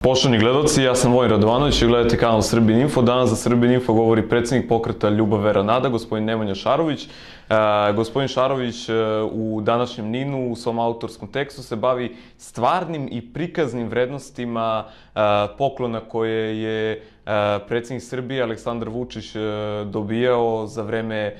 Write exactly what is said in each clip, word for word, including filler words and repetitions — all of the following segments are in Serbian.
Poštovani gledalci, ja sam Vojin Radovanović i gledate kanal Srbin Info. Danas za Srbin Info govori predsjednik pokreta Ljubav Vera Nada, gospodin Nemanja Šarović. E, gospodin Šarović e, u današnjem Ninu u svom autorskom tekstu se bavi stvarnim i prikaznim vrednostima e, poklona koje je e, predsjednik Srbije Aleksandar Vučić e, dobijao za vreme e,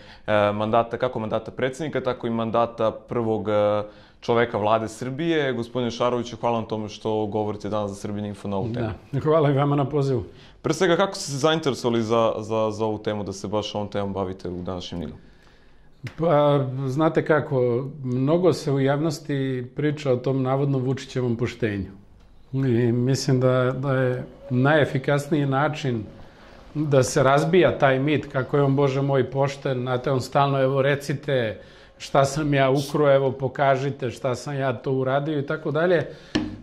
mandata, kako mandata predsjednika, tako i mandata prvog e, čoveka vlade Srbije. Gospodine Šaroviću, hvala vam tome što govorite danas za Srbin Info na ovu temu. Da, hvala i vama na pozivu. Pre svega, kako ste se zainteresovali za, za, za ovu temu, da se baš ovom temom bavite u današnjem Ninu? Pa, znate kako, mnogo se u javnosti priča o tom navodnom Vučićevom poštenju. I mislim da, da je najefikasniji način da se razbija taj mit kako je on, Bože moj, pošten, znate, on stalno, evo, recite šta sam ja ukro, evo, pokažite šta sam ja to uradio i tako dalje.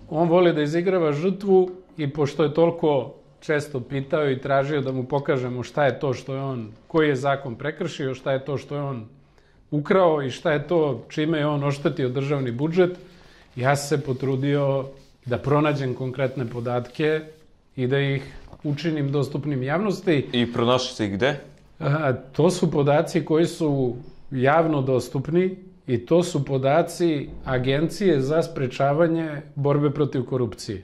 On voli da izigrava žrtvu i pošto je toliko često pitao i tražio da mu pokažemo šta je to što je on, koji je zakon prekršio, šta je to što je on ukrao i šta je to čime je on oštetio državni budžet, ja sam se potrudio da pronađem konkretne podatke i da ih učinim dostupnim javnosti. I pronašli ste ih gde? A, to su podaci koji su javno dostupni i to su podaci Agencije za sprečavanje borbe protiv korupcije.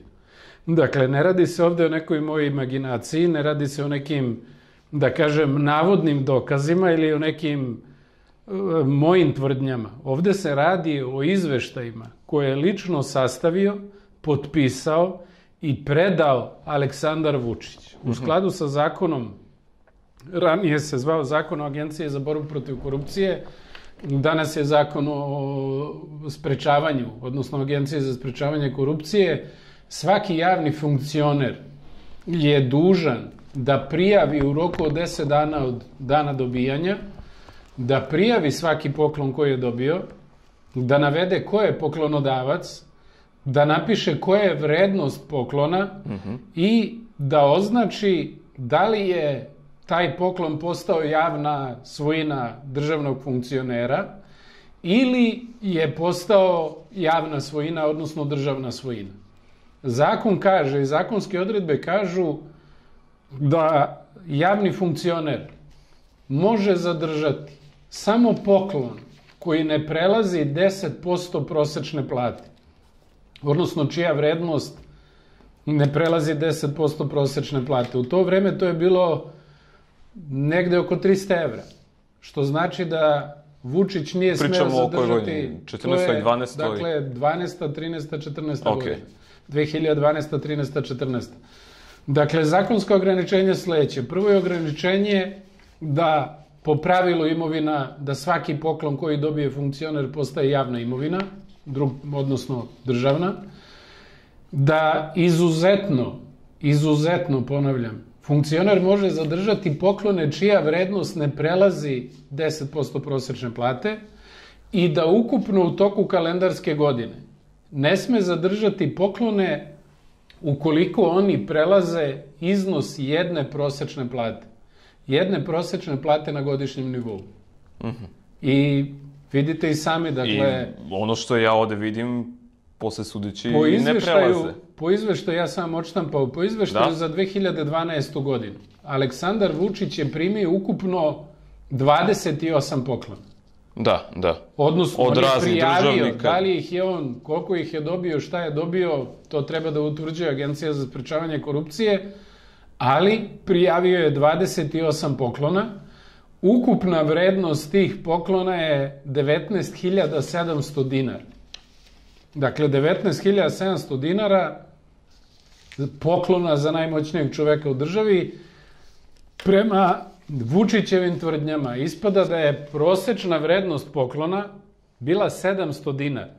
Dakle, ne radi se ovde o nekoj mojoj imaginaciji, ne radi se o nekim, da kažem, navodnim dokazima ili o nekim e, mojim tvrdnjama. Ovde se radi o izveštajima koje je lično sastavio, potpisao i predao Aleksandar Vučić. U skladu sa zakonom, ranije se zvao Zakon o Agenciji za borbu protiv korupcije, danas je Zakon o sprečavanju, odnosno Agencije za sprečavanje korupcije. Svaki javni funkcioner je dužan da prijavi u roku od deset dana od dana dobijanja, da prijavi svaki poklon koji je dobio, da navede ko je poklonodavac, da napiše koja je vrednost poklona mm-hmm. i da označi da li je taj poklon postao javna svojina državnog funkcionera ili je postao javna svojina, odnosno državna svojina. Zakon kaže i zakonske odredbe kažu da javni funkcioner može zadržati samo poklon koji ne prelazi deset posto prosečne plate, odnosno čija vrednost ne prelazi deset posto prosečne plate. U to vreme to je bilo negde oko trista evra, što znači da Vučić nije smeo zadržati... Pričamo o kojoj godini? četrnaestoj, dvanaestoj? Dakle, dvanaesta, trinaesta, četrnaesta okay. godina. dve hiljade dvanaesta, trinaesta, četrnaesta. Dakle, zakonsko ograničenje je sledeće. Prvo je ograničenje da po pravilu imovina, da svaki poklon koji dobije funkcioner postaje javna imovina, drug, odnosno državna, da izuzetno, izuzetno, ponavljam, funkcioner može zadržati poklone čija vrednost ne prelazi deset posto prosečne plate i da ukupno u toku kalendarske godine ne sme zadržati poklone ukoliko oni prelaze iznos jedne prosečne plate. Jedne prosečne plate na godišnjem nivou. Mm-hmm. I vidite i sami, dakle... I ono što ja ovde vidim, posle sudeći ne prelaze. Po izveštaju, ja sam odštampao, po izveštaju da? za dve hiljade dvanaestu godinu, Aleksandar Vučić je primio ukupno dvadeset osam poklona. Da, da. Odnosno, od on je raznih prijavio, državnika. Da li ih je on, koliko ih je dobio, šta je dobio, to treba da utvrđuje Agencija za sprečavanje korupcije, ali prijavio je dvadeset osam poklona. Ukupna vrednost tih poklona je devetnaest hiljada sedamsto dinara. Dakle, devetnaest hiljada sedamsto dinara poklona za najmoćnijeg čoveka u državi. Prema Vučićevim tvrdnjama ispada da je prosečna vrednost poklona bila sedamsto dinara.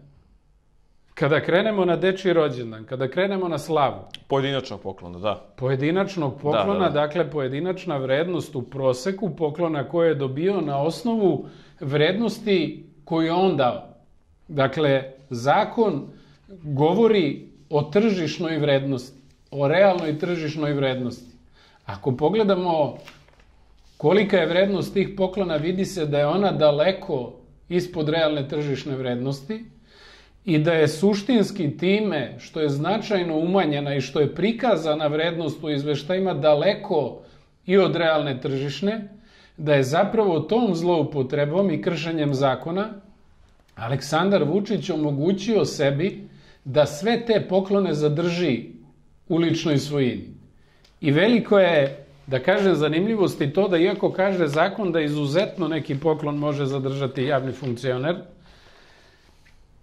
Kada krenemo na dečiji rođendan, kada krenemo na slavu... Pojedinačnog poklona, da. Pojedinačnog poklona, da, da, da. Dakle, pojedinačna vrednost u proseku poklona koje je dobio na osnovu vrednosti koju je on dao. Dakle, zakon govori o tržišnoj vrednosti, o realnoj tržišnoj vrednosti. Ako pogledamo kolika je vrednost tih poklona, vidi se da je ona daleko ispod realne tržišne vrednosti i da je suštinski time što je značajno umanjena i što je prikazana vrednost u izveštajima daleko i od realne tržišne, da je zapravo tom zloupotrebom i kršenjem zakona Aleksandar Vučić omogućio sebi da sve te poklone zadrži u ličnoj svojini. I veliko je, da kažem, zanimljivosti to da iako kaže zakon da izuzetno neki poklon može zadržati javni funkcioner,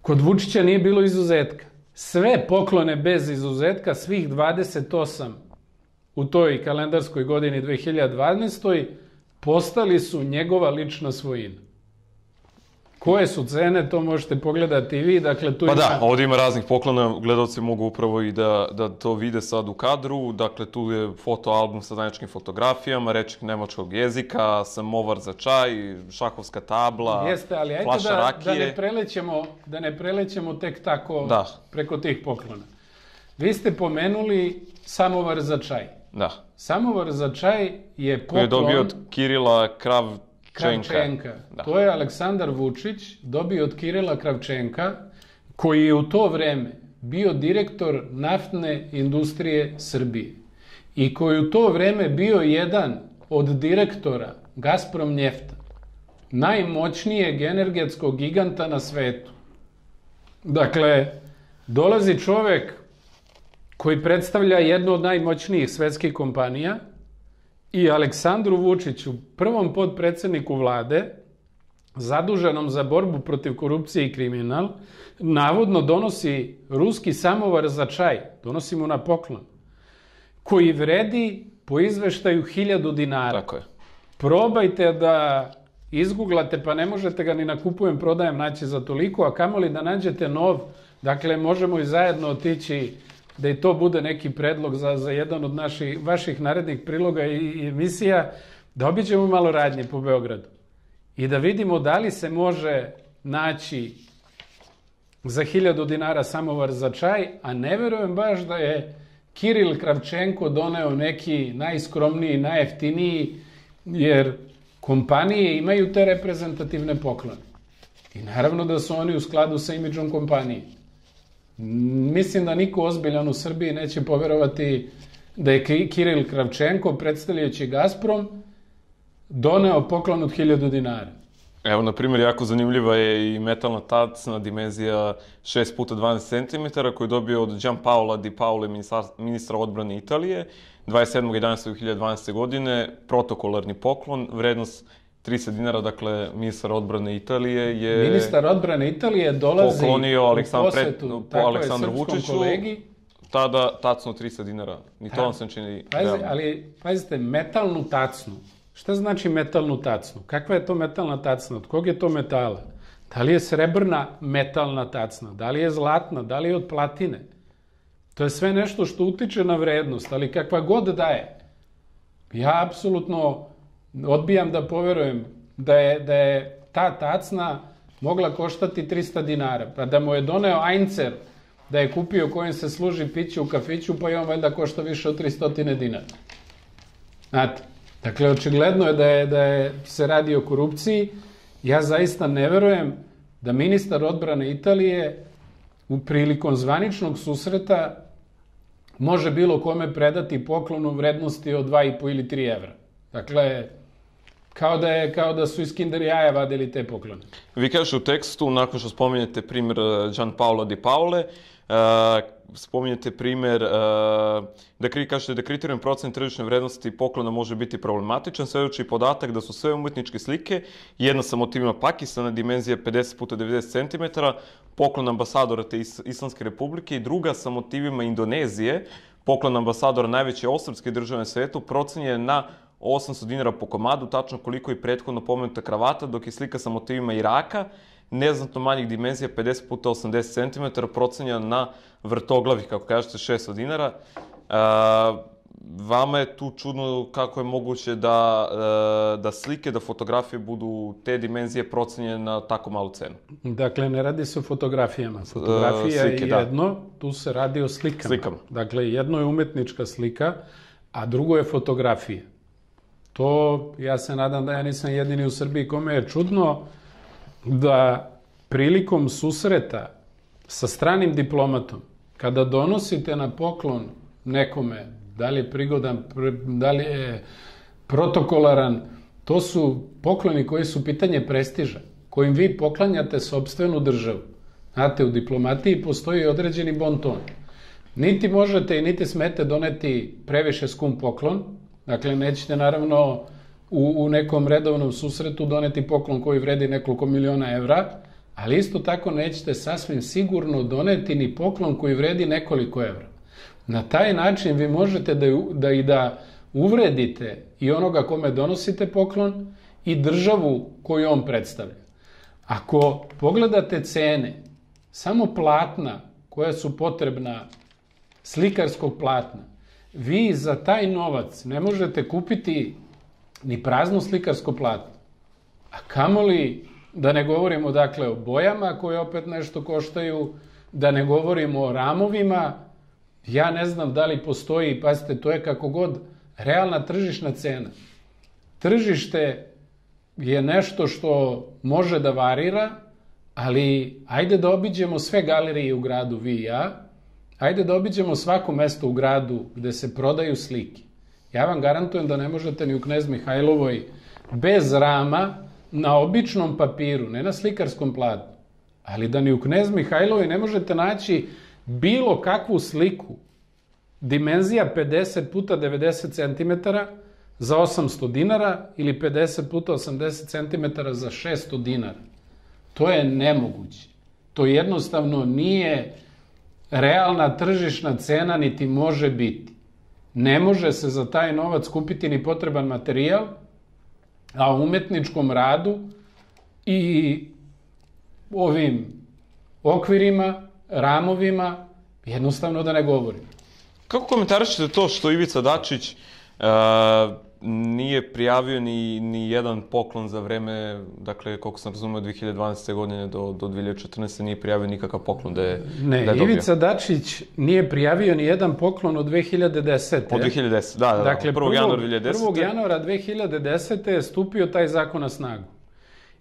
kod Vučića nije bilo izuzetka. Sve poklone bez izuzetka, svih dvadeset osam u toj kalendarskoj godini dve hiljade dvanaestoj postali su njegova lična svojina. Koje su cene, to možete pogledati i vi. Dakle, tu pa ima... da, ovdje ima raznih poklona, gledalci mogu upravo i da, da to vide sad u kadru. Dakle, tu je fotoalbum sa zajedničkim fotografijama, rečnik nemačkog jezika, samovar za čaj, šahovska tabla, Jeste, ali ajde flaša da, rakije. da, ne prelećemo, da ne prelećemo tek tako da. preko tih poklona. Vi ste pomenuli samovar za čaj. Da. Samovar za čaj je poklon... Koji je dobio od Kirila Krav... Kravčenka. Da. To je Aleksandar Vučić dobio od Kirila Kravčenka, koji je u to vreme bio direktor naftne industrije Srbije i koji u to vreme bio jedan od direktora Gazprom Njefta, najmoćnijeg energetskog giganta na svetu. Dakle, dolazi čovek koji predstavlja jednu od najmoćnijih svetskih kompanija i Aleksandru Vučiću, prvom podpredsedniku vlade, zaduženom za borbu protiv korupcije i kriminal, navodno donosi ruski samovar za čaj, donosi mu na poklon, koji vredi po izveštaju hiljadu dinara. Tako je. Probajte da izguglate, pa ne možete ga ni na kupujem, prodajem naći za toliko, a kamoli da nađete nov, dakle možemo i zajedno otići da i to bude neki predlog za, za jedan od naših, vaših narednih priloga i, i emisija, da obiđemo malo radnje po Beogradu i da vidimo da li se može naći za hiljadu dinara samovar za čaj, a ne verujem baš da je Kiril Kravčenko doneo neki najskromniji, najjeftiniji, jer kompanije imaju te reprezentativne poklone. I naravno da su oni u skladu sa imidžom kompanije. Mislim da niko ozbiljan u Srbiji neće poverovati da je Kiril Kravčenko, predstavljajući Gazprom, doneo poklon od hiljadu dinara. Evo, na primjer, jako zanimljiva je i metalna tacna dimenzija šest puta dvanaest centimetara koju je dobio od Gianpaola Di Paole, ministra odbrane Italije, dvadeset sedmog jedanaestog dve hiljade dvanaeste. godine, protokolarni poklon, vrednost tristo dinara, dakle, ministar odbrane Italije je... Ministar odbrane Italije dolazi poklonio u posetu, po Aleksandru Vučiću, kolegi. Tada tacnu tristo dinara. Ni to vam se čini... Pazi, ali, pazite, metalnu tacnu. Šta znači metalnu tacnu? Kakva je to metalna tacna? Od kog je to metala? Da li je srebrna metalna tacna? Da li je zlatna? Da li je od platine? To je sve nešto što utiče na vrednost, ali kakva god da je. Ja apsolutno odbijam da poverujem da je, da je ta tacna mogla koštati tristo dinara, pa da mu je doneo Einzer, da je kupio kojim se služi piće u kafiću, pa i on valjda košta više od tristo dinara. Znate, dakle, očigledno je da, je da je se radi o korupciji. Ja zaista ne verujem da ministar odbrane Italije u prilikom zvaničnog susreta može bilo kome predati poklon u vrednosti od dva i po ili tri evra. Dakle, kao da, je, kao da su iz Kinder jaja vadili te poklone. Vi kažete u tekstu, nakon što spominjete primjer Gianpaola Di Paole, uh, spominjete primjer, uh, da kri, kažete da kriterijum procene tržišne vrednosti poklona može biti problematičan, svedoči podatak da su sve umetničke slike, jedna sa motivima Pakistana, dimenzije pedeset puta devedeset centimetara, poklon ambasadora te Is Islamske republike i druga sa motivima Indonezije, poklon ambasadora najveće osrpske države na svetu, procenjen na osamsto dinara po komadu, tačno koliko je prethodno pomenuta kravata, dok je slika sa motivima Iraka, neznatno manjih dimenzija, pedeset puta osamdeset centimetara, procenjena na vrtoglavih, kako kažete, šesto dinara. E, vama je tu čudno kako je moguće da, e, da slike, da fotografije budu te dimenzije procenjene na tako malu cenu. Dakle, ne radi se o fotografijama. Fotografija e, slike, je jedno, da. Tu se radi o slikama. Slikama. Dakle, jedno je umetnička slika, a drugo je fotografija. To, ja se nadam da ja nisam jedini u Srbiji kome je čudno da prilikom susreta sa stranim diplomatom, kada donosite na poklon nekome, da li je prigodan, da li je protokolaran, to su pokloni koji su pitanje prestiža, kojim vi poklanjate sopstvenu državu. Znate, u diplomatiji postoji određeni bon ton. Niti možete i niti smete doneti previše skum poklon, dakle nećete naravno u, u nekom redovnom susretu doneti poklon koji vredi nekoliko miliona evra, ali isto tako nećete sasvim sigurno doneti ni poklon koji vredi nekoliko evra. Na taj način vi možete da, da i da uvredite i onoga kome donosite poklon i državu koju on predstavlja. Ako pogledate cene, samo platna koja su potrebna, slikarskog platna, vi za taj novac ne možete kupiti ni prazno slikarsko platno. A kamoli, da ne govorimo dakle o bojama koje opet nešto koštaju, da ne govorimo o ramovima, ja ne znam da li postoji, pazite, to je kako god realna tržišna cena. Tržište je nešto što može da varira, ali ajde da obiđemo sve galerije u gradu, vi i ja, ajde da obiđemo svako mesto u gradu gde se prodaju slike. Ja vam garantujem da ne možete ni u Knez Mihajlovoj bez rama, na običnom papiru, ne na slikarskom platnu, ali da ni u Knez Mihajlovoj ne možete naći bilo kakvu sliku, dimenzija pedeset puta devedeset centimetara za osamsto dinara ili pedeset puta osamdeset centimetara za šesto dinara. To je nemoguće. To jednostavno nije realna tržišna cena, niti može biti. Ne može se za taj novac kupiti ni potreban materijal, a u umetničkom radu i ovim okvirima, ramovima, jednostavno da ne govorim. Kako komentarišete to što Ivica Dačić uh, nije prijavio ni, ni jedan poklon za vreme, dakle, koliko sam razumio, od dve hiljade dvanaeste. godine do, do dve hiljade četrnaeste. nije prijavio nikakav poklon da je, ne, da je dobio? Ivica Dačić nije prijavio ni jedan poklon od dve hiljade desete. Od dve hiljade desete. Da, da, dakle, prvog januara dve hiljade desete. prvog januara dve hiljade desete. je stupio taj zakon na snagu.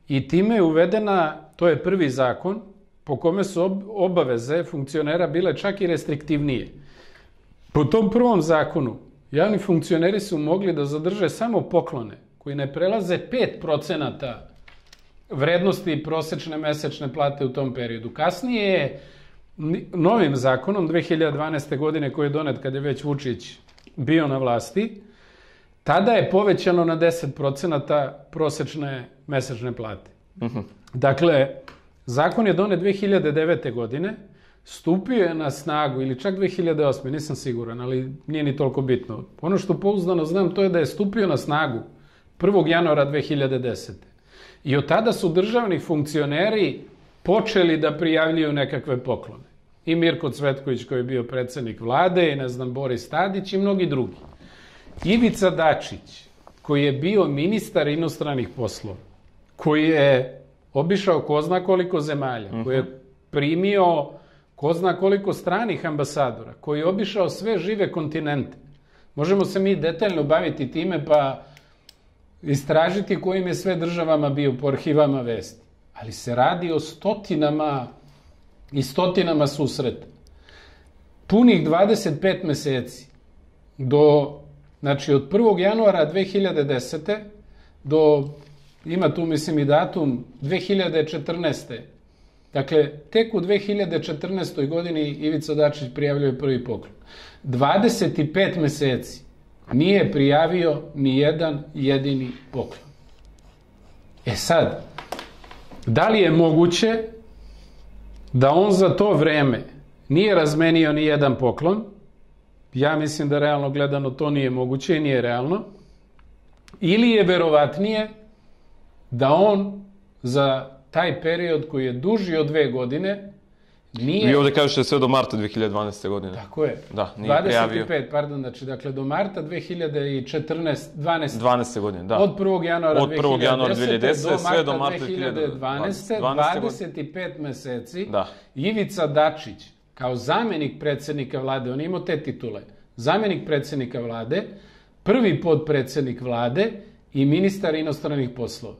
I time je uvedena, to je prvi zakon, po kome su obaveze funkcionera bile čak i restriktivnije. Po tom prvom zakonu, javni funkcioneri su mogli da zadrže samo poklone koji ne prelaze pet procenata vrednosti prosečne mesečne plate u tom periodu. Kasnije je novim zakonom dve hiljade dvanaeste. godine, koji je donet kad je već Vučić bio na vlasti, tada je povećano na deset procenata prosečne mesečne plate. Uh-huh. Dakle, zakon je donet dve hiljade devete. godine, stupio je na snagu, ili čak dve hiljade osme. nisam siguran, ali nije ni toliko bitno. Ono što pouzdano znam, to je da je stupio na snagu prvog januara dve hiljade desete. I od tada su državni funkcioneri počeli da prijavljuju nekakve poklone. I Mirko Cvetković, koji je bio predsednik vlade, i ne znam, Boris Tadić i mnogi drugi. Ivica Dačić, koji je bio ministar inostranih poslova, koji je obišao ko zna koliko zemalja, uh-huh. koji je primio ko zna koliko stranih ambasadora, koji je obišao sve žive kontinente. Možemo se mi detaljno baviti time pa istražiti kojim je sve državama bio po arhivama vesti. Ali se radi o stotinama i stotinama susreta. Punih dvadeset pet meseci do, znači od prvog januara dve hiljade desete. do, ima tu mislim i datum, dve hiljade četrnaeste. Dakle, tek u dve hiljade četrnaestoj. godini Ivica Dačić prijavljuje prvi poklon. dvadeset pet meseci nije prijavio ni jedan jedini poklon. E sad, da li je moguće da on za to vreme nije razmenio ni jedan poklon? Ja mislim da realno gledano to nije moguće i nije realno. Ili je verovatnije da on za taj period koji je duži od dve godine nije... Vi ovde kažete sve do marta dve hiljade dvanaeste. godine. Tako je. Da, nije prijavio. dvadeset pet, pardon, znači, dakle, do marta dve hiljade četrnaeste. dvanaeste. dvanaeste. godine, da. Od prvog januara dve hiljade desete. sve do marta dve hiljade dvanaeste. dvadeset pet meseci. Da. Ivica Dačić, kao zamenik predsednika vlade, on je imao te titule, zamenik predsednika vlade, prvi podpredsednik vlade i ministar inostranih poslova.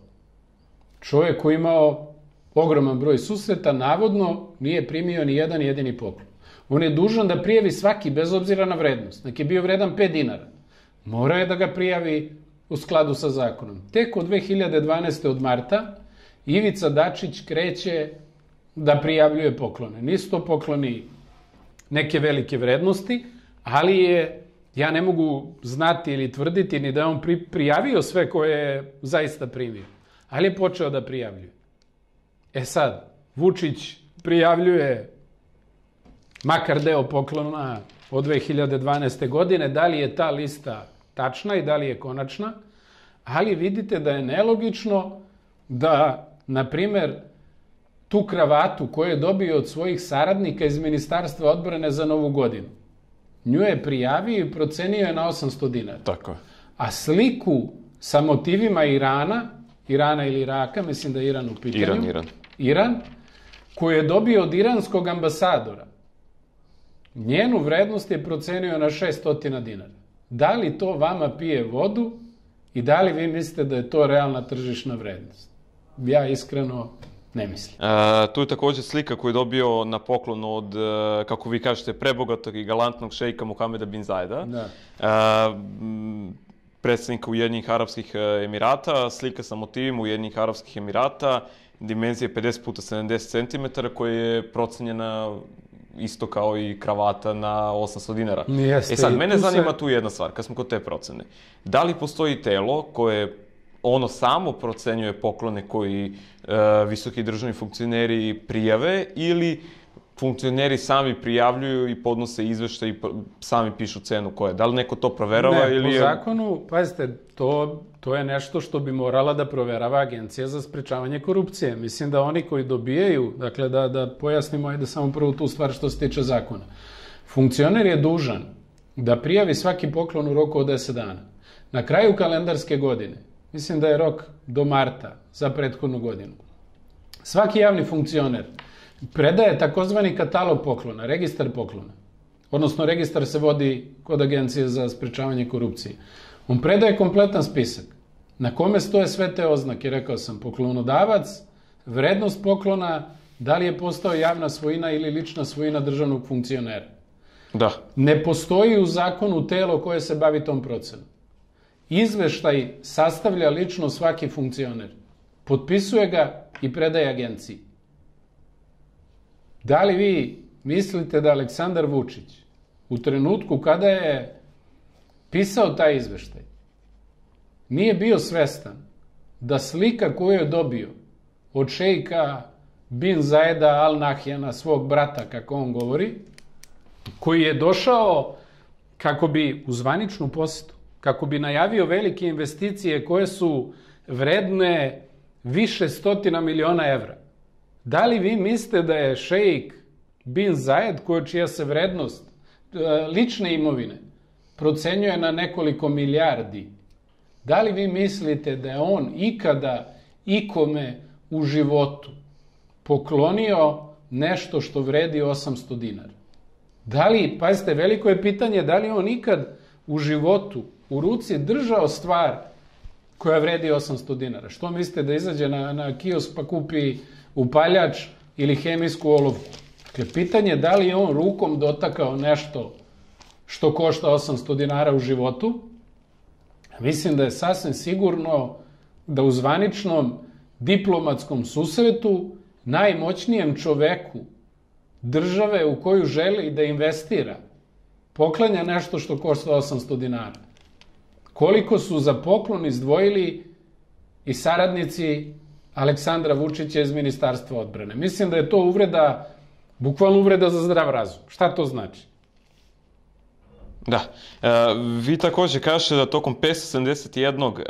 Čovjek koji imao ogroman broj susreta, navodno nije primio ni jedan jedini poklon. On je dužan da prijavi svaki, bez obzira na vrednost. Nek je bio vredan pet dinara. Mora je da ga prijavi u skladu sa zakonom. Tek od dve hiljade dvanaeste. od marta Ivica Dačić kreće da prijavljuje poklone. Nisu to pokloni neke velike vrednosti, ali je, ja ne mogu znati ili tvrditi ni da je on pri, prijavio sve koje je zaista primio. Ali je počeo da prijavljuje. E sad, Vučić prijavljuje makar deo poklona od dve hiljade dvanaeste. godine, da li je ta lista tačna i da li je konačna, ali vidite da je nelogično da, na primer, tu kravatu koju je dobio od svojih saradnika iz Ministarstva odbrane za Novu godinu, nju je prijavio i procenio je na osamsto dinara. Tako je. A sliku sa motivima Irana, Irana ili Iraka, mislim da je Iran u pitanju. Iran, Iran. Iran, koju je dobio od iranskog ambasadora, njenu vrednost je procenio na šesto dinara. Da li to vama pije vodu i da li vi mislite da je to realna tržišna vrednost? Ja iskreno ne mislim. E, tu je također slika koju je dobio na poklon od, e, kako vi kažete, prebogatog i galantnog šejka Mohameda bin Zajeda. Da. E, predsjednika Ujedinjenih Arapskih Emirata, slika sa motivima Ujedinjenih Arapskih Emirata, dimenzije pedeset puta sedamdeset centimetara, koja je procenjena isto kao i kravata na osamsto dinara. Jeste, e sad, mene tu zanima se... tu jedna stvar, kad smo kod te procene. Da li postoji telo koje ono samo procenjuje poklone koji e, visoki državni funkcioneri prijave ili funkcioneri sami prijavljuju i podnose izveštaj i sami pišu cenu koja je? Da li neko to proverava? Ne, ili po je... zakonu, pazite, to, to je nešto što bi morala da proverava Agencija za sprečavanje korupcije. Mislim da oni koji dobijaju, dakle da, da pojasnimo, ajde samo prvo tu stvar što se tiče zakona. Funkcioner je dužan da prijavi svaki poklon u roku od deset dana. Na kraju kalendarske godine, mislim da je rok do marta za prethodnu godinu, svaki javni funkcioner predaje takozvani katalog poklona, registar poklona. Odnosno, registar se vodi kod Agencije za sprečavanje korupcije. On predaje kompletan spisak na kome stoje sve te oznake. Rekao sam, poklonodavac, vrednost poklona, da li je postao javna svojina ili lična svojina državnog funkcionera. Da. Ne postoji u zakonu telo koje se bavi tom procenom. Izveštaj sastavlja lično svaki funkcioner. Potpisuje ga i predaje agenciji. Da li vi mislite da Aleksandar Vučić u trenutku kada je pisao taj izveštaj nije bio svestan da slika koju je dobio od šejka bin Zajeda Al Nahyana, svog brata, kako on govori, koji je došao kako bi u zvaničnu posetu, kako bi najavio velike investicije koje su vredne više stotina miliona evra. Da li vi mislite da je šejk bin Zajed, koja čija se vrednost lične imovine procenjuje na nekoliko milijardi, da li vi mislite da je on ikada ikome u životu poklonio nešto što vredi osamsto dinara? Da li, pazite, veliko je pitanje, da li on ikad u životu u ruci držao stvar koja vredi osamsto dinara? Što mislite, da izađe na, na kiosk pa kupi upaljač ili hemijsku olovku? Dakle, pitanje je da li je on rukom dotakao nešto što košta osamsto dinara u životu. Mislim da je sasvim sigurno da u zvaničnom diplomatskom susretu najmoćnijem čoveku države u koju želi da investira poklanja nešto što košta osamsto dinara. Koliko su za poklon izdvojili i saradnici Aleksandra Vučića iz Ministarstva odbrane? Mislim da je to uvreda, bukvalno uvreda za zdrav razum. Šta to znači? Da. E, vi također kažete da tokom petsto sedamdeset jednog e,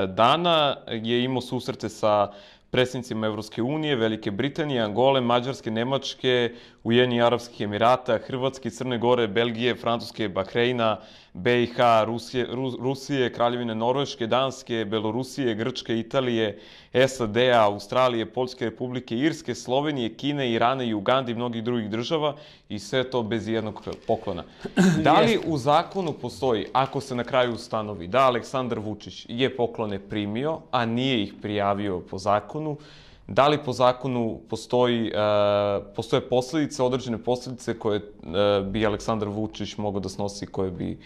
dana je imao susrete sa predsjednicima Evropske unije, Velike Britanije, Angole, Mađarske, Nemačke, Ujedinjenih Arapskih Emirata, Hrvatske, Crne Gore, Belgije, Francuske, Bahreina, B i H, Rusije, Rusije, Kraljevine Norveške, Danske, Belorusije, Grčke, Italije, S A D-a, Australije, Poljske Republike, Irske, Slovenije, Kine, Irana i Ugande i mnogih drugih država, i sve to bez jednog poklona. Da li u zakonu postoji, ako se na kraju ustanovi da Aleksandar Vučić je poklone primio, a nije ih prijavio po zakonu, Da li po zakonu postoji, postoje posljedice, određene posljedice koje bi Aleksandar Vučić mogao da snosi, koje bi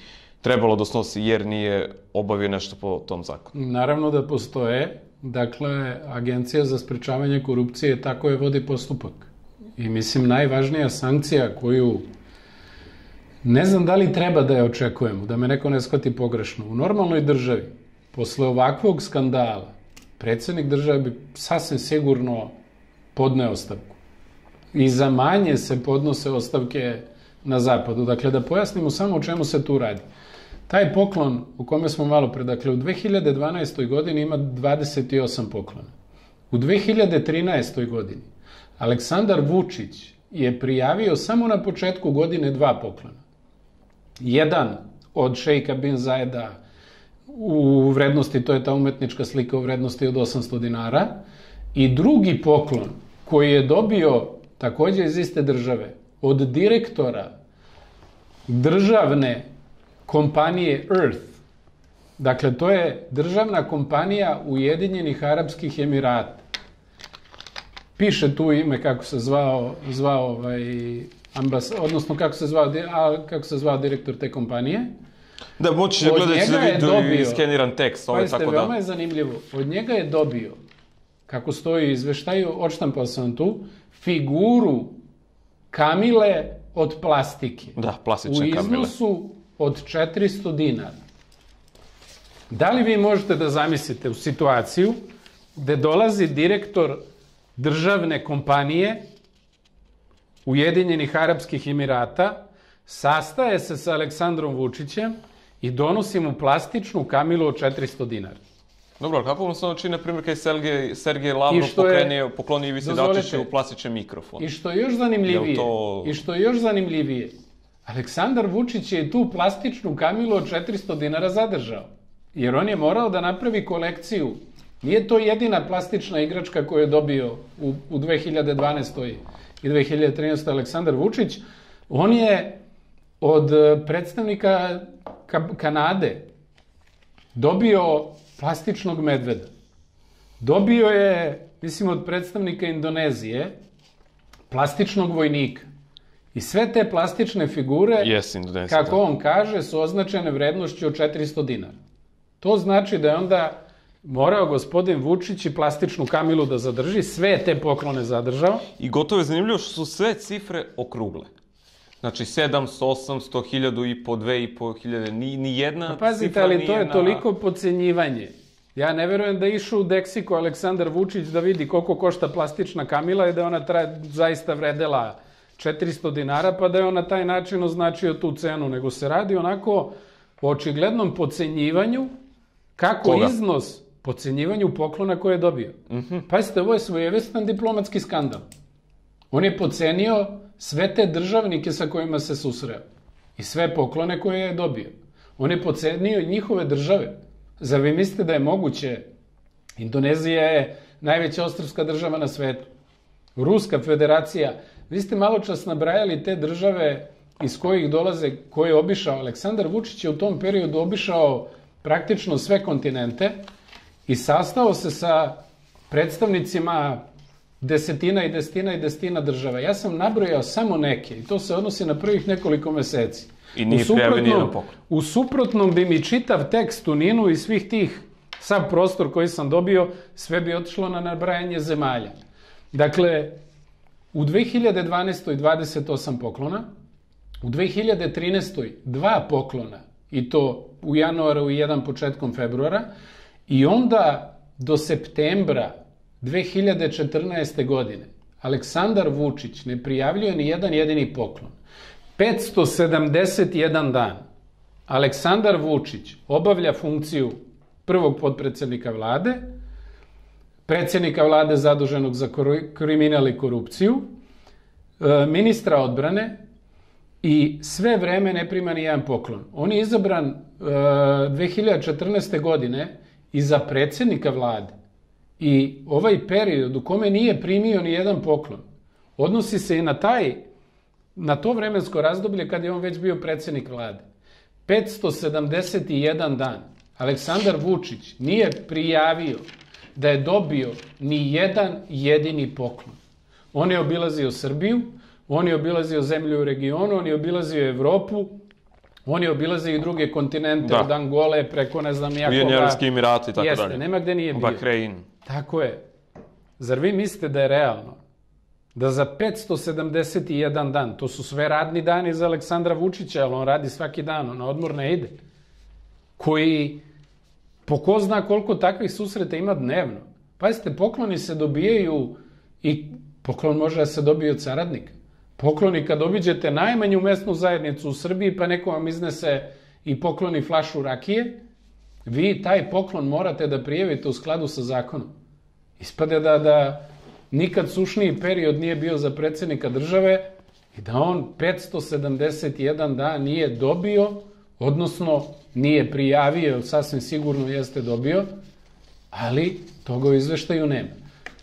trebalo da snosi jer nije obavio nešto po tom zakonu? Naravno da postoje. Dakle, Agencija za sprečavanje korupcije tako je vodi postupak. I mislim, najvažnija sankcija koju ne znam da li treba da je očekujemo, da me neko ne shvati pogrešno. U normalnoj državi, posle ovakvog skandala, predsjednik države bi sasvim sigurno podneo ostavku. I za manje se podnose ostavke na zapadu. Dakle, da pojasnimo samo o čemu se tu radi. Taj poklon o kome smo malo pre, dakle, u dve hiljade dvanaestoj godini ima dvadeset osam poklona. U dve hiljade trinaestoj godini Aleksandar Vučić je prijavio samo na početku godine dva poklona. Jedan od šejka Bin Zajeda u vrednosti, to je ta umetnička slika u vrednosti od osamsto dinara, i drugi poklon koji je dobio takođe iz iste države od direktora državne kompanije Earth. Dakle, to je državna kompanija Ujedinjenih Arapskih Emirata. Piše tu ime kako se zvao, zvao ovaj, ambas, odnosno kako se zvao, a, kako se zvao direktor te kompanije. Da, moći će gledati da vidu i skeniran tekst. Ovo je tako da. Veoma je zanimljivo. Od njega je dobio, kako stoji u izveštaju, odštampao sam tu, figuru Kamile od plastike. Da, plastične Kamile. U iznosu od četiristo dinara. Da li vi možete da zamislite u situaciju gde dolazi direktor državne kompanije Ujedinjenih Arapskih Emirata, sastaje se sa Aleksandrom Vučićem i donosi mu plastičnu Kamilu od četiristo dinara? Dobro, ali kako vam se ono čini, na primjer, kada je Sergej Lavrov pokrenio, poklonio Ivici Dačiću plastični mikrofon? I što je još zanimljivije, to... i što je još zanimljivije, Aleksandar Vučić je tu plastičnu Kamilu od četiristo dinara zadržao, jer on je morao da napravi kolekciju. Nije to jedina plastična igračka koju je dobio u, u dve hiljade dvanaestoj i dve hiljade trinaestoj Aleksandar Vučić. On je od predstavnika ka Kanade dobio plastičnog medveda. Dobio je, mislim, od predstavnika Indonezije plastičnog vojnika. I sve te plastične figure, yes, kako on kaže, su označene vrednošću od četiristo dinara. To znači da je onda morao gospodin Vučić i plastičnu Kamilu da zadrži, sve te poklone zadržao. I gotovo je zanimljivo što su sve cifre okrugle. Znači sedamsto, osamsto, hiljadu i po, dve i po hiljade, ni, ni jedna pa pazite, cifra nije ali to je na... toliko podcenjivanje. Ja ne verujem da je išao u Deksiko Aleksandar Vučić da vidi koliko košta plastična Kamila i da ona traje, zaista vredela četiristo dinara, pa da je on na taj način označio tu cenu, nego se radi onako o očiglednom podcenjivanju, kako Koga? iznos podcenjivanju poklona koje je dobio. Mm-hmm. Pazite, ovo je svojevrstan diplomatski skandal. On je podcenio sve te državnike sa kojima se susreo i sve poklone koje je dobio. On je podcenio njihove države. Zar vi mislite da je moguće? Indonezija je najveća ostrvska država na svetu. Ruska federacija. Vi ste malo čas nabrajali te države iz kojih dolaze, koje je obišao. Aleksandar Vučić je u tom periodu obišao praktično sve kontinente i sastao se sa predstavnicima desetina i desetina i desetina država. Ja sam nabrojao samo neke i to se odnosi na prvih nekoliko meseci. I nije prijavio nijedan poklon. U suprotnom bi mi čitav tekst u Ninu i svih tih, sav prostor koji sam dobio, sve bi otišlo na nabrajanje zemalja. Dakle, u dve hiljade dvanaestoj dvadeset osam poklona, u dve hiljade trinaestoj dva poklona, i to u januaru i jedan početkom februara, i onda do septembra dve hiljade četrnaeste. godine Aleksandar Vučić ne prijavljuje ni jedan jedini poklon. petsto sedamdeset jedan dan Aleksandar Vučić obavlja funkciju prvog potpredsednika vlade, predsjednika vlade zaduženog za kriminal i korupciju, ministra odbrane, i sve vreme ne prima ni jedan poklon. On je izabran dve hiljade četrnaeste. godine i za predsjednika vlade. I ovaj period u kome nije primio ni jedan poklon odnosi se i na taj, na to vremensko razdoblje kad je on već bio predsjednik vlade. petsto sedamdeset jedan dan Aleksandar Vučić nije prijavio da je dobio ni jedan jedini poklon. On je obilazio Srbiju, on je obilazio zemlju u regionu, on je obilazio Evropu, on je obilazio i druge kontinente, da. Od Angole preko ne znam nijakoga. Ujedinjeni Arapski Emirati i tako Jeste, dalje. nema gde nije bio. Bahrein. Tako je. Zar vi mislite da je realno da za petsto sedamdeset jedan dan, to su sve radni dani za Aleksandra Vučića, ali on radi svaki dan, on na odmor ne ide, koji po ko zna koliko takvih susreta ima dnevno. Pazite, pokloni se dobijaju i poklon može da se dobije od saradnika. Pokloni kad obiđete najmanju mesnu zajednicu u Srbiji, pa neko vam iznese i pokloni flašu rakije, vi taj poklon morate da prijavite u skladu sa zakonom. Ispade da, da nikad sušniji period nije bio za predsjednika države i da on petsto sedamdeset jedan dan nije dobio, odnosno nije prijavio, sasvim sigurno jeste dobio, ali toga u izveštaju nema.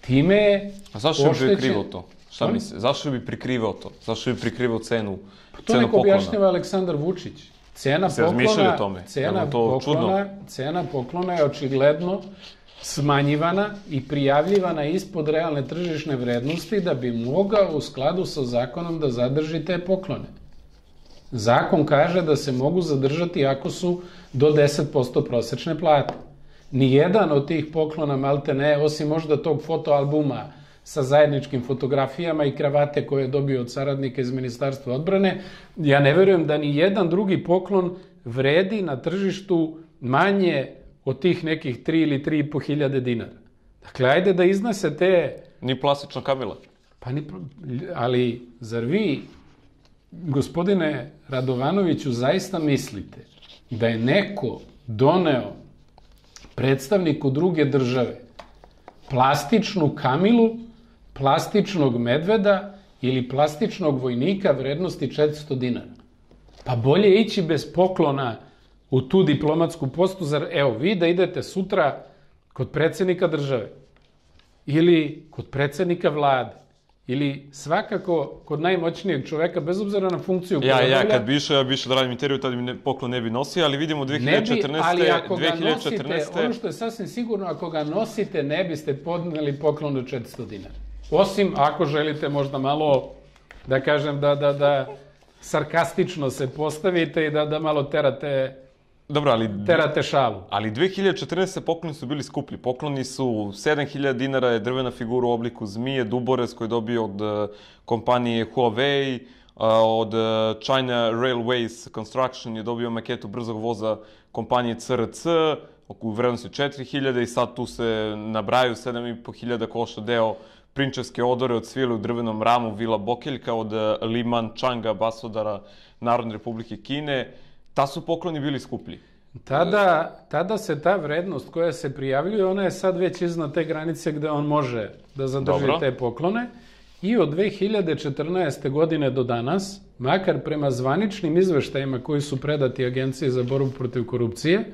Time je A zašto bi prikrivao to? Šta misle? Zašto bi prikrivao to? Zašto bi prikrivao cenu poklona? To neko objašnjava Aleksandar Vučić. Cena poklona, cena poklona, cena poklona je očigledno smanjivana i prijavljivana ispod realne tržišne vrednosti da bi mogao u skladu sa zakonom da zadrži te poklone. Zakon kaže da se mogu zadržati ako su do deset posto prosečne plate. Nijedan od tih poklona, malte ne, osim možda tog fotoalbuma sa zajedničkim fotografijama i kravate koje je dobio od saradnika iz Ministarstva odbrane, ja ne verujem da ni jedan drugi poklon vredi na tržištu manje od tih nekih tri ili tri i po hiljade dinara. Dakle, ajde da iznese te... Ni plastična kamila. Pa ni... Ali, zar vi, gospodine Radovanoviću, zaista mislite da je neko doneo predstavniku druge države plastičnu kamilu, plastičnog medveda ili plastičnog vojnika vrednosti četiristo dinara? Pa bolje ići bez poklona u tu diplomatsku postu, zar, evo, vi da idete sutra kod predsjednika države ili kod predsjednika vlade ili svakako kod najmoćnijeg čoveka, bez obzira na funkciju koju ja, obavlja... Ja, kad bi išao, ja bi išao da radim intervju, tada mi poklon ne bi nosio, ali vidimo dve hiljade četrnaeste... Ne bi, ali ako ga nosite, ono što je sasvim sigurno, ako ga nosite, ne biste podneli poklon od četiristo dinara. Osim ako želite možda malo, da kažem, da, da, da sarkastično se postavite i da, da malo terate... Dobro, ali... Terate šalu. Ali dve hiljade četrnaeste. pokloni su bili skuplji. Pokloni su sedam hiljada dinara, je drvena figura u obliku zmije, duborez koji je dobio od kompanije Huawei, od China Railways Construction je dobio maketu brzog voza kompanije C R C u vrednosti četiri hiljade i sad tu se nabraju sedam i po hiljada košta deo prinčevske odore od svile u drvenom ramu Vila Bokeljka od Li Man-changa, ambasadora Narodne Republike Kine. Ta su pokloni bili skuplji. Tada, tada se ta vrednost koja se prijavljuje, ona je sad već iznad te granice gde on može da zadrži Dobro. te poklone. I od dve hiljade četrnaeste. godine do danas, makar prema zvaničnim izveštajima koji su predati Agenciji za borbu protiv korupcije,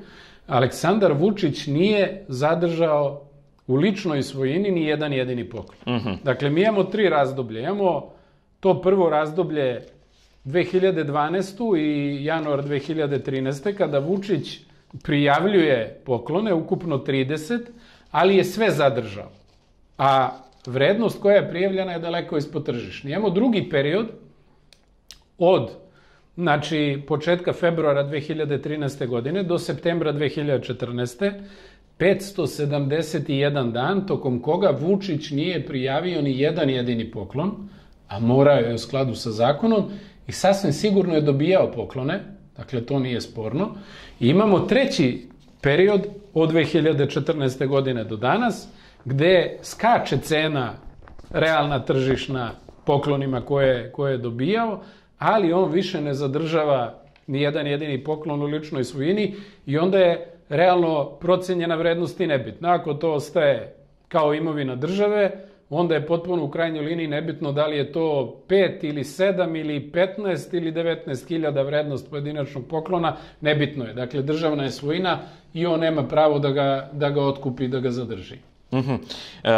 Aleksandar Vučić nije zadržao u ličnoj svojini ni jedan jedini poklon. Uh -huh. Dakle, mi imamo tri razdoblje. Imamo to prvo razdoblje dve hiljade dvanaeste. i januar dve hiljade trinaeste. kada Vučić prijavljuje poklone, ukupno trideset, ali je sve zadržao. A vrednost koja je prijavljena je daleko ispod tržišne. Imamo drugi period od znači, početka februara dve hiljade trinaeste. godine do septembra dve hiljade četrnaeste. petsto sedamdeset jedan dan, tokom koga Vučić nije prijavio ni jedan jedini poklon, a morao je u skladu sa zakonom, i sasvim sigurno je dobijao poklone, dakle to nije sporno. I imamo treći period od dve hiljade četrnaeste. godine do danas, gde skače cena realna tržišna poklonima koje, koje je dobijao, ali on više ne zadržava ni jedan jedini poklon u ličnoj svojini i onda je realno procenjena vrednost i nebitna. Ako to ostaje kao imovina države, onda je potpuno u krajnjoj liniji nebitno da li je to pet ili sedam ili petnaest ili devetnaest hiljada vrednost pojedinačnog poklona, nebitno je. Dakle, državna je svojina i on nema pravo da ga, da ga otkupi i da ga zadrži. Uh-huh. e,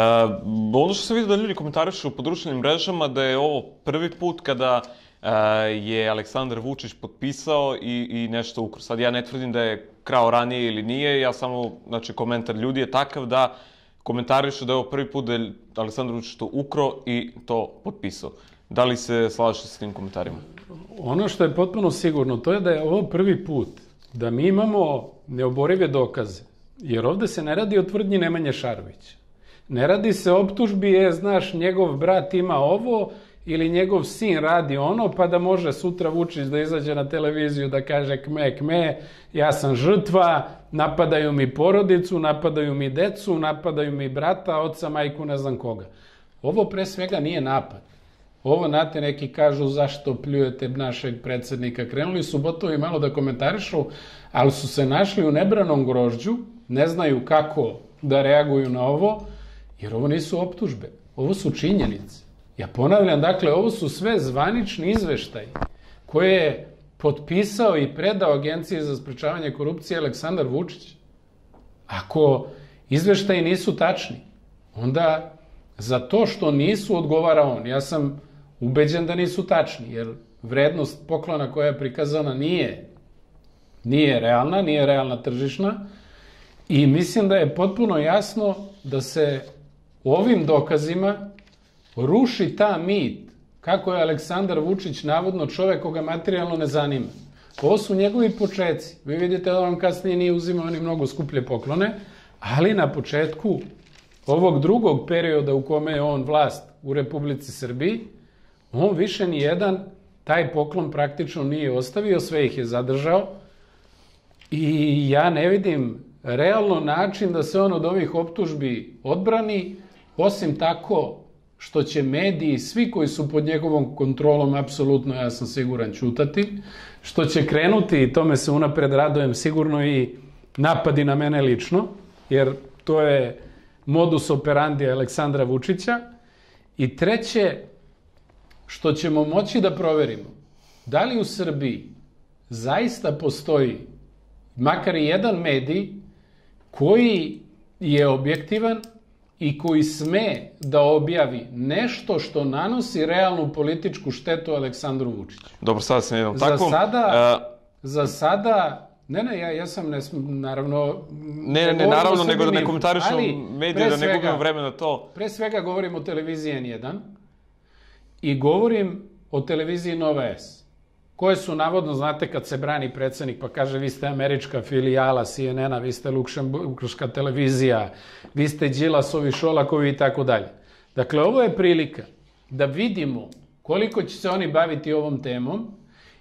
ono što se vidi da ljudi komentarišu po društvenim mrežama da je ovo prvi put kada e, je Aleksandar Vučić potpisao i, i nešto ukrao. Sad ja ne tvrdim da je krao ranije ili nije, ja samo, znači komentar ljudi je takav da komentarišu da je ovo prvi put da je Aleksandar Vučić to ukro i to potpisao. Da li se slažete s tim komentarima? Ono što je potpuno sigurno, to je da je ovo prvi put da mi imamo neoborive dokaze. Jer ovde se ne radi o tvrdnji Nemanje Šarovića. Ne radi se o optužbi, je, znaš, njegov brat ima ovo ili njegov sin radi ono, pa da može sutra Vučić da izađe na televiziju da kaže kme, kme, ja sam žrtva, napadaju mi porodicu, napadaju mi decu, napadaju mi brata, oca, majku, ne znam koga. Ovo pre svega nije napad. Ovo, znate, neki kažu zašto pljujete našeg predsednika. Krenuli su botovi malo da komentarišu, ali su se našli u nebranom grožđu, ne znaju kako da reaguju na ovo, jer ovo nisu optužbe, ovo su činjenice. Ja ponavljam, dakle, ovo su sve zvanični izveštaji koje je potpisao i predao Agenciji za sprečavanje korupcije Aleksandar Vučić. Ako izveštaji nisu tačni, onda za to što nisu odgovara on. Ja sam ubeđen da nisu tačni, jer vrednost poklona koja je prikazana nije, nije realna, nije realna tržišna i mislim da je potpuno jasno da se ovim dokazima ruši ta mit kako je Aleksandar Vučić navodno čovek koga materijalno ne zanima. Ovo su njegovi početci. Vi vidite da on kasnije nije uzimao ni mnogo skuplje poklone, ali na početku ovog drugog perioda u kome je on vlast u Republici Srbiji, on više ni jedan taj poklon praktično nije ostavio, sve ih je zadržao i ja ne vidim realno način da se on od ovih optužbi odbrani, osim tako što će mediji, svi koji su pod njegovom kontrolom, apsolutno, ja sam siguran, ćutati, što će krenuti, i tome se unapred radujem, sigurno i napadi na mene lično, jer to je modus operandi Aleksandra Vučića. I treće, što ćemo moći da proverimo, da li u Srbiji zaista postoji makar i jedan medij koji je objektivan i koji sme da objavi nešto što nanosi realnu političku štetu Aleksandru Vučiću. Dobro, sada sam jednom takvom. Za sada, za sada, ne, ne, ja, ja sam, ne, naravno... Ne, ne, naravno, nego da ne komentarišu medije, da ne gubimo vreme na to. Pre svega govorim o televiziji N jedan i govorim o televiziji Nova S, koje su, navodno, znate, kad se brani predsednik pa kaže vi ste američka filijala C N N-a, vi ste luksemburška televizija, vi ste Đilasovi, Šolakovi i tako dalje. Dakle, ovo je prilika da vidimo koliko će se oni baviti ovom temom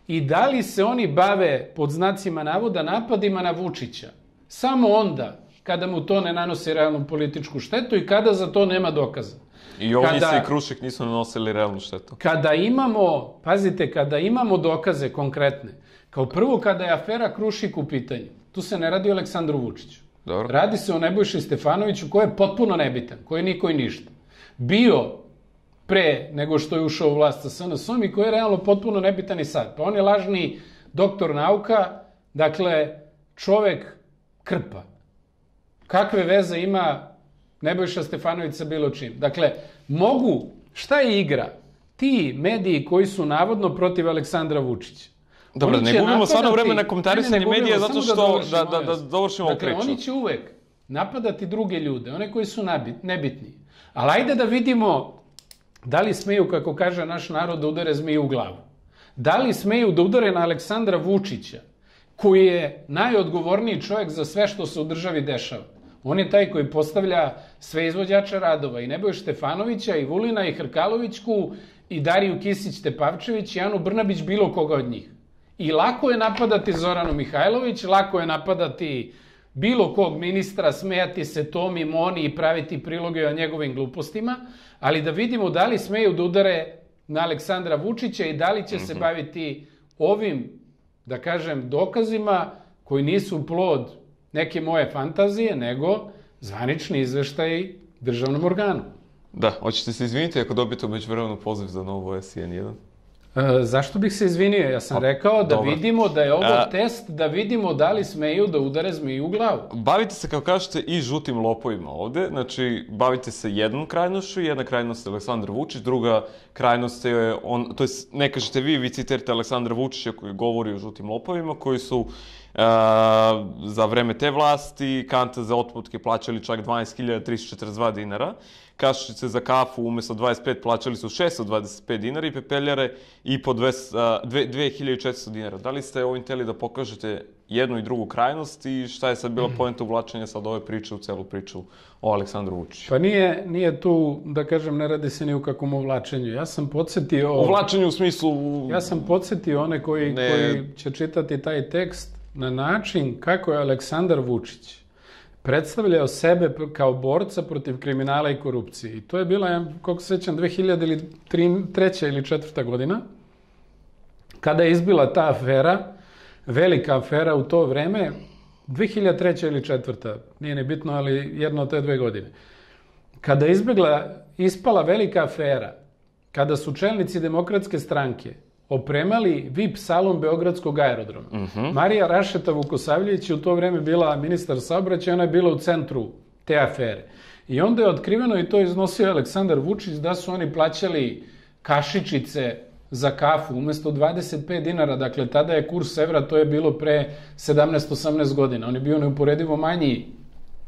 i da li se oni bave, pod znacima navoda, napadima na Vučića samo onda kada mu to ne nanosi realnu političku štetu i kada za to nema dokaza. I ovdje se i Krušik nisu nanosili realnu štetu. Kada imamo, pazite, kada imamo dokaze konkretne, kao prvo kada je afera Krušik u pitanju, tu se ne radi o Aleksandru Vučiću. Dobro. Radi se o Nebojši Stefanoviću koji je potpuno nebitan, koji je niko i ništa. Bio pre nego što je ušao u vlast sa S N S-om i koji je realno potpuno nebitan i sad. Pa on je lažni doktor nauka, dakle, čovek krpa. Kakve veze ima Nebojša Stefanović sa bilo čim? Dakle, mogu, šta je igra? Ti mediji koji su navodno protiv Aleksandra Vučića. Dobro, ne gubimo stvarno vreme na komentarisanje medija zato što da, da, da dovršimo ovu priču. Dakle, oni će uvek napadati druge ljude, one koji su nebitni. Ali ajde da vidimo da li smeju, kako kaže naš narod, da udare zmiju u glavu. Da li smeju da udare na Aleksandra Vučića, koji je najodgovorniji čovjek za sve što se u državi dešava. On je taj koji postavlja sve izvođače radova, i Nebojšu Stefanovića, i Vulina, i Hrkalovićku, i Dariju Kisić-Tepavčević, i Anu Brnabić, bilo koga od njih. I lako je napadati Zoranu Mihajlović, lako je napadati bilo kog ministra, smejati se Tomi, Moni i praviti priloge o njegovim glupostima, ali da vidimo da li smeju da udare na Aleksandra Vučića i da li će se baviti ovim, da kažem, dokazima koji nisu plod neke moje fantazije, nego zvanični izveštaj državnom organu. Da, hoćete se izviniti ako dobijete međuvremenu poziv za novo S N jedan? E, zašto bih se izvinio? Ja sam rekao da vidimo da je ovo test, da vidimo da li smeju da udare zmiju u glavu. Bavite se, kao kažete, i žutim lopovima ovde. Znači, bavite se jednom krajnošću, jedna krajnost je Aleksandar Vučić, druga krajnost je on, to je, ne kažete vi, vi citirate Aleksandra Vučića koji govori o žutim lopovima, koji su za vreme te vlasti, kante za otputke plaćali čak dvanaest hiljada tristo četrdeset dva dinara, kašičice za kafu umesto dvadeset pet plaćali su šesto dvadeset pet dinara i pepeljare i po dve hiljade četiristo dinara. Da li ste ovim teli da pokažete jednu i drugu krajnost i šta je sad bila poenta uvlačenja sad ove priče u celu priču o Aleksandru Vučiću? Pa nije, nije tu, da kažem, ne radi se ni u kakvom uvlačenju. Ja sam podsjetio... Uvlačenju u smislu... Ja sam podsjetio one koji, ne... koji će čitati taj tekst na način kako je Aleksandar Vučić predstavljao sebe kao borca protiv kriminala i korupcije. I to je bila, kako se sećam, dve hiljade treća ili četvrta godina, kada je izbila ta afera, velika afera u to vreme, dve hiljade treća ili četvrta, nije ni bitno, ali jedno od te dve godine. Kada je izbjegla, ispala velika afera, kada su čelnici Demokratske stranke opremali V I P salon Beogradskog aerodroma. Uh-huh. Marija Rašeta Vukosavljević je u to vreme bila ministar saobraćaja, ona je bila u centru te afere. I onda je otkriveno, i to iznosio Aleksandar Vučić, da su oni plaćali kašičice za kafu umesto dvadeset pet dinara. Dakle, tada je kurs evra, to je bilo pre sedamnaest osamnaest godina. On je bio neuporedivo manji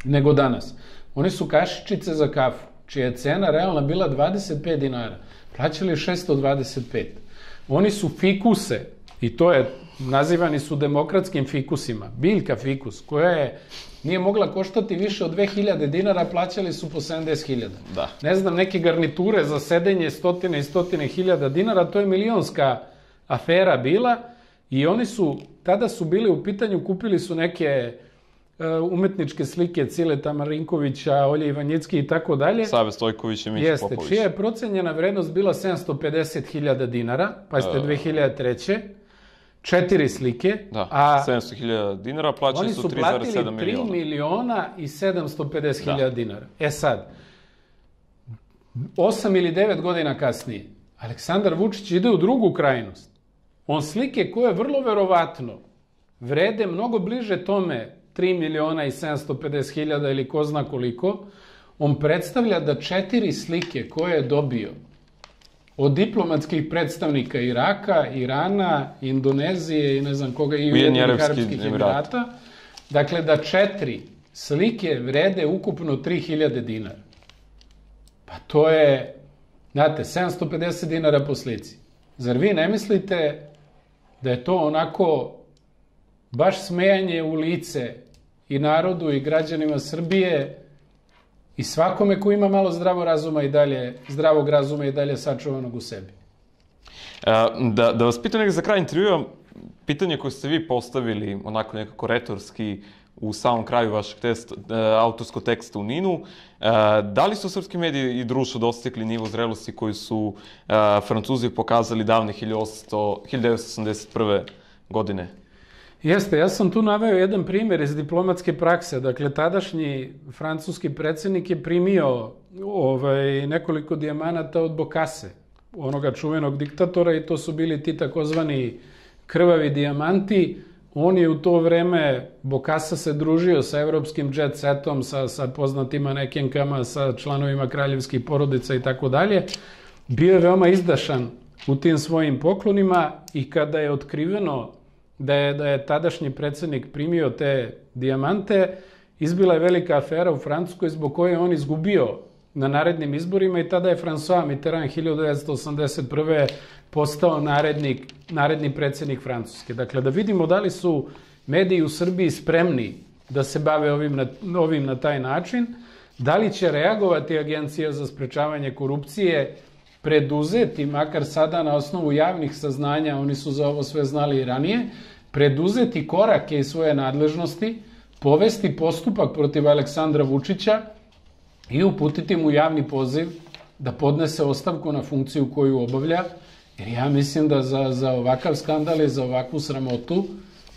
nego danas. Oni su kašičice za kafu, čija je cena realna bila dvadeset pet dinara. Plaćali šesto dvadeset pet. Oni su fikuse, i to je, nazivani su demokratskim fikusima, biljka fikus, koja je, nije mogla koštati više od dve hiljade dinara, plaćali su po sedamdeset hiljada. Da. Ne znam, neke garniture za sedenje stotine i stotine hiljada dinara, to je milionska afera bila i oni su, tada su bili u pitanju, kupili su neke uh, umetničke slike Cileta Marinkovića, Olje Ivanjicki i tako dalje. Save Stojković i Mića Popović. Jeste, čija je procenjena vrednost bila sedamsto pedeset hiljada dinara, pa ste dve hiljade treće četiri slike. Da, a sedamsto hiljada dinara, plaćali su tri zarez sedam miliona. Oni su platili tri miliona i sedamsto pedeset hiljada dinara. E sad, osam ili devet godina kasnije, Aleksandar Vučić ide u drugu krajnost. On slike koje vrlo verovatno vrede mnogo bliže tome tri miliona i sedamsto pedeset hiljada ili ko zna koliko, on predstavlja da četiri slike koje je dobio od diplomatskih predstavnika Iraka, Irana, Indonezije i ne znam koga, i Ujedinjenih Arapskih Emirata, dakle da četiri slike vrede ukupno tri hiljade dinara. Pa to je, znate, sedamsto pedeset dinara po slici. Zar vi ne mislite da je to onako baš smejanje u lice i narodu i građanima Srbije i svakome ko ima malo zdravo razuma i dalje, zdravog razuma i dalje sačuvanog u sebi? Da, da vas pitam nekako za kraj intervjua, pitanje koje ste vi postavili onako nekako retorski u samom kraju vašeg test, autorskog teksta u Ninu, da li su srpski mediji i društvo dostigli nivo zrelosti koji su Francuzi pokazali davne hiljadu devetsto osamdeset prve. godine? Jeste, ja sam tu naveo jedan primjer iz diplomatske prakse. Dakle, tadašnji francuski predsjednik je primio ovaj, nekoliko dijamanata od Bokase, onoga čuvenog diktatora, i to su bili ti takozvani krvavi dijamanti. On je u to vreme, Bokasa se družio sa evropskim jet setom, sa, sa poznatim manekenkama, sa članovima kraljevskih porodica i tako dalje. Bio je veoma izdašan u tim svojim poklonima i kada je otkriveno da je, da je tadašnji predsjednik primio te dijamante, izbila je velika afera u Francuskoj zbog koje je on izgubio na narednim izborima i tada je François Mitterrand hiljadu devetsto osamdeset prve postao narednik, naredni predsjednik Francuske. Dakle, da vidimo da li su mediji u Srbiji spremni da se bave ovim na, ovim na taj način, da li će reagovati Agencija za sprečavanje korupcije, preduzeti, makar sada na osnovu javnih saznanja, oni su za ovo sve znali i ranije, preduzeti korake iz svoje nadležnosti, povesti postupak protiv Aleksandra Vučića i uputiti mu javni poziv da podnese ostavku na funkciju koju obavlja, jer ja mislim da za, za ovakav skandal i za ovakvu sramotu,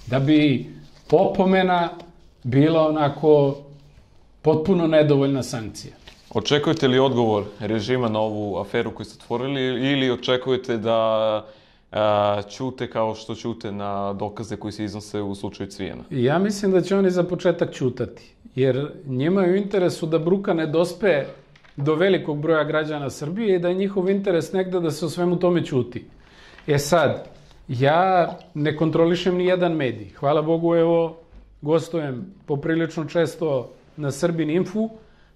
da bi opomena bila onako potpuno nedovoljna sankcija. Očekujete li odgovor režima na ovu aferu koju ste otvorili ili očekujete da a, ćute kao što ćute na dokaze koji se iznose u slučaju Cvijana? Ja mislim da će oni za početak ćutati, jer njima je u interesu da bruka ne dospe do velikog broja građana Srbije i da je njihov interes negde da se o svemu tome ćuti. E sad, Ja ne kontrolišem ni jedan medij. Hvala Bogu, evo, gostujem poprilično često na Srbin Infu,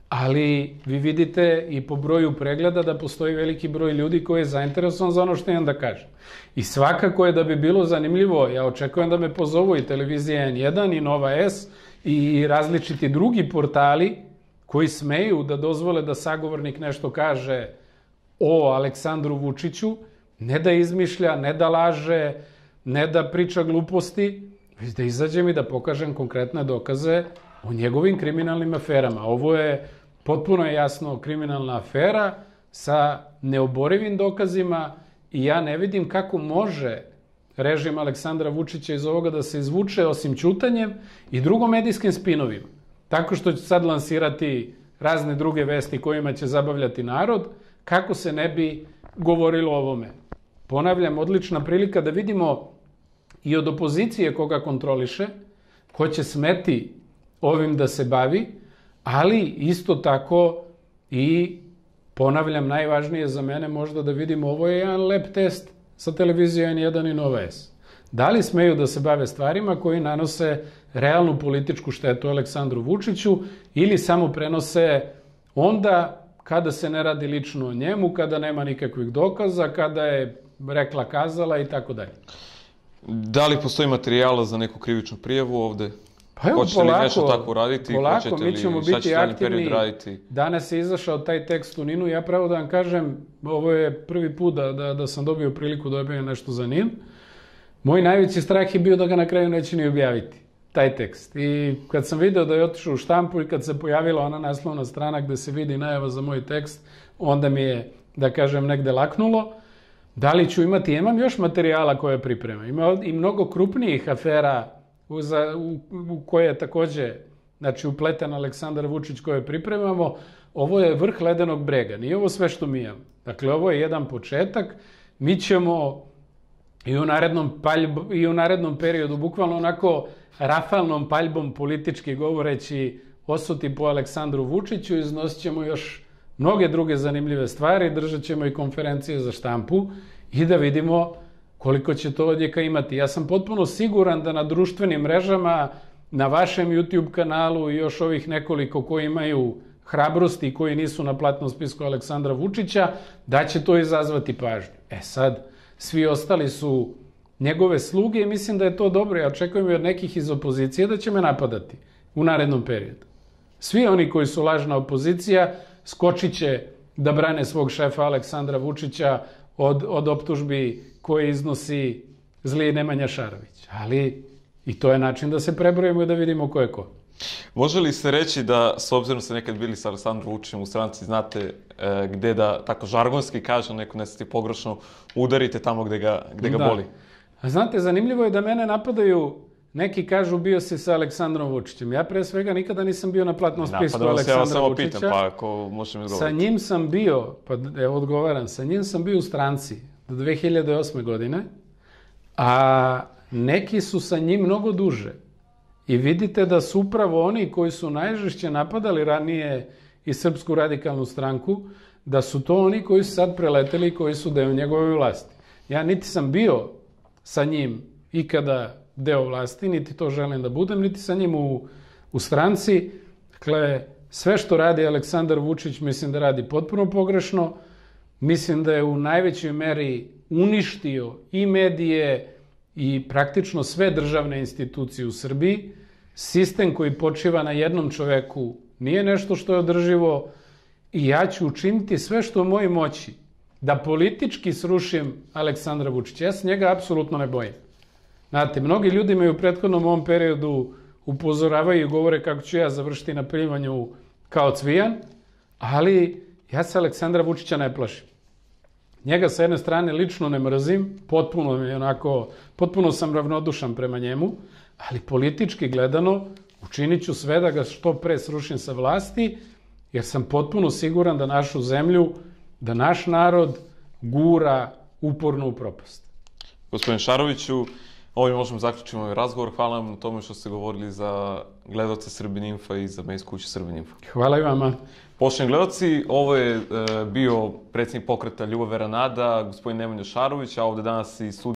ali vi vidite i po broju pregleda da postoji veliki broj ljudi koji je zainteresovan za ono što imam da kažem. I svakako je da bi bilo zanimljivo, ja očekujem da me pozovu i televizija N jedan i Nova S i različiti drugi portali koji smeju da dozvole da sagovornik nešto kaže o Aleksandru Vučiću, ne da izmišlja, ne da laže, ne da priča gluposti, već da izađem i da pokažem konkretne dokaze o njegovim kriminalnim aferama. Ovo je potpuno jasno kriminalna afera sa neoborivim dokazima i ja ne vidim kako može režim Aleksandra Vučića iz ovoga da se izvuče osim ćutanjem i drugom medijskim spinovima. Tako što će sad lansirati razne druge vesti kojima će zabavljati narod, kako se ne bi govorilo o ovome. Ponavljam, odlična prilika da vidimo i od opozicije koga kontroliše, ko će smeti ovim da se bavi, ali isto tako i, ponavljam, najvažnije za mene možda da vidimo, ovo je jedan lep test sa televizije N jedan i Nova S. Da li smeju da se bave stvarima koji nanose realnu političku štetu Aleksandru Vučiću ili samo prenose onda kada se ne radi lično o njemu, kada nema nikakvih dokaza, kada je rekla kazala i tako dalje. Da li postoji materijala za neku krivičnu prijavu ovde? Pa evo, hoćete polako, li nešto tako raditi? polako, hoćete mi li, ćemo šta biti ćete aktivni. Raditi? Danas je izašao taj tekst u Ninu. Ja pravo da vam kažem, ovo je prvi put da, da, da sam dobio priliku da objavim nešto za Nin. Moj najveći strah je bio da ga na kraju neće ni objaviti, taj tekst. I kad sam video da je otišao u štampu i kad se pojavila ona naslovna strana gde se vidi najava za moj tekst, onda mi je, da kažem, negde laknulo. Da li ću imati? Imam još materijala koje pripremam. Ima i mnogo krupnijih afera u, za, u, u koje je takođe, znači, upleten Aleksandar Vučić koje pripremamo. Ovo je vrh ledenog brega. Nije ovo sve što mi imam. Dakle, ovo je jedan početak. Mi ćemo i u narednom, paljb, i u narednom periodu, bukvalno onako rafalnom paljbom politički govoreći, osuti po Aleksandru Vučiću, iznosit ćemo još mnoge druge zanimljive stvari, držat ćemo i konferencije za štampu i da vidimo koliko će to odjeka imati. Ja sam potpuno siguran da na društvenim mrežama, na vašem YouTube kanalu i još ovih nekoliko koji imaju hrabrosti i koji nisu na platnom spisku Aleksandra Vučića, da će to izazvati pažnju. E sad, svi ostali su njegove sluge i mislim da je to dobro. Ja očekujem i od nekih iz opozicije da će me napadati u narednom periodu. Svi oni koji su lažna opozicija skočit će da brane svog šefa Aleksandra Vučića od, od optužbi koje iznosi zli Nemanja Šarović. Ali i to je način da se prebrojimo i da vidimo ko je ko. Može li se reći da, s obzirom ste nekad bili sa Aleksandrom Vučićem u stranci, znate e, gde da, tako žargonski kažem, neko ne ste pogrešno, udarite tamo gde ga, gde ga da. boli? A znate, zanimljivo je da mene napadaju, neki kažu bio si sa Aleksandrom Vučićem. Ja pre svega nikada nisam bio na platnom spisku Aleksandra Vučića. Ja vas samo pitam, pa ako možete mi odgovoriti. Sa njim sam bio, pa evo odgovaram, sa njim sam bio u stranci do dve hiljade osme. godine, a neki su sa njim mnogo duže. I vidite da su upravo oni koji su najžešće napadali ranije i Srpsku radikalnu stranku, da su to oni koji su sad preleteli i koji su deo njegove vlasti. Ja niti sam bio sa njim ikada deo vlasti, niti to želim da budem, niti sa njim u, u stranci. Dakle, sve što radi Aleksandar Vučić mislim da radi potpuno pogrešno. Mislim da je u najvećoj meri uništio i medije i praktično sve državne institucije u Srbiji. Sistem koji počiva na jednom čoveku nije nešto što je održivo i ja ću učiniti sve što u mojoj moći da politički srušim Aleksandra Vučića. Ja se njega apsolutno ne bojim. Znate, mnogi ljudi me u prethodnom ovom periodu upozoravaju i govore kako ću ja završiti na primanju kao Cvijan, ali ja se Aleksandra Vučića ne plašim. Njega sa jedne strane lično ne mrzim, potpuno mi onako, potpuno sam ravnodušan prema njemu, ali politički gledano učinit ću sve da ga što pre srušim sa vlasti, jer sam potpuno siguran da našu zemlju, da naš narod gura uporno u propast. Gospodin Šaroviću, ovim možemo zaključiti ovaj razgovor. Hvala vam na tome što ste govorili za gledalce Srbin Infa i za medijsku kuću Srbin Info. Hvala i vama. Poštovani gledalci, ovo je e, bio predsjednik pokreta Ljubav, vera, nada, gospodin Nemanja Šarović, a ovde danas i sudija